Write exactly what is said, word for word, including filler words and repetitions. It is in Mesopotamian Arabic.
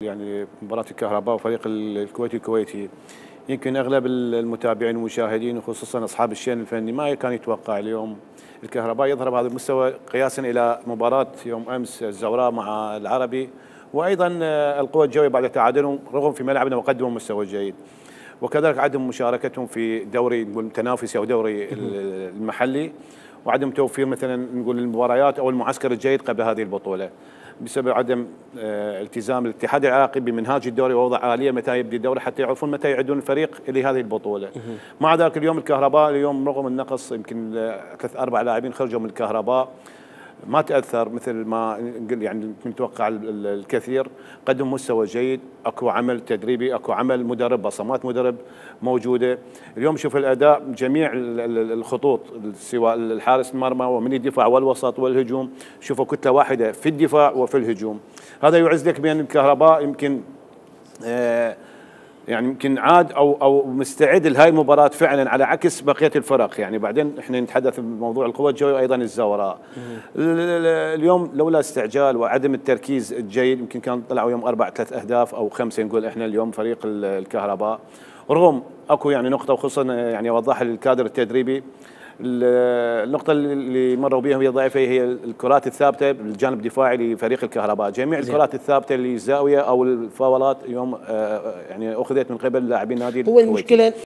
يعني مباراة الكهرباء وفريق الكويتي الكويتي، يمكن اغلب المتابعين والمشاهدين وخصوصا اصحاب الشأن الفني ما كان يتوقع اليوم الكهرباء يظهر بهذا المستوى قياسا الى مباراة يوم امس الزوراء مع العربي، وايضا القوى الجويه بعد تعادلهم رغم في ملعبنا وقدموا مستوى جيد، وكذلك عدم مشاركتهم في دوري التنافسي او دوري المحلي، وعدم توفير مثلا نقول المباريات او المعسكر الجيد قبل هذه البطوله بسبب عدم التزام الاتحاد العراقي بمنهاج الدوري ووضع آلية متى يبدي الدوري حتى يعرفون متى يعدون الفريق لهذه البطوله. مع ذلك اليوم الكهرباء اليوم رغم النقص يمكن ثلاث اربع لاعبين خرجوا من الكهرباء ما تاثر مثل ما يعني متوقع الكثير، قدم مستوى جيد، اكو عمل تدريبي، اكو عمل مدرب، بصمات مدرب موجوده. اليوم شوف الاداء جميع الخطوط سواء الحارس المرمى ومن الدفاع والوسط والهجوم، شوفوا كتله واحده في الدفاع وفي الهجوم، هذا يعز لك بان الكهرباء يمكن آه يعني يمكن عاد او او مستعد لهاي المباراه فعلا على عكس بقيه الفرق، يعني بعدين احنا نتحدث بموضوع القوى الجويه وايضا الزوراء. اليوم لولا استعجال وعدم التركيز الجيد يمكن كان طلعوا يوم اربع ثلاث اهداف او خمسه نقول احنا اليوم فريق الكهرباء، رغم اكو يعني نقطه وخصوصا يعني اوضحها للكادر التدريبي، النقطة اللي مروا بها وهي ضعيفة هي الكرات الثابتة بالجانب الدفاعي لفريق الكهرباء، جميع الكرات الثابتة اللي الزاوية أو الفاولات اليوم يعني أخذت من قبل لاعبين نادي الكويت. هو المشكلة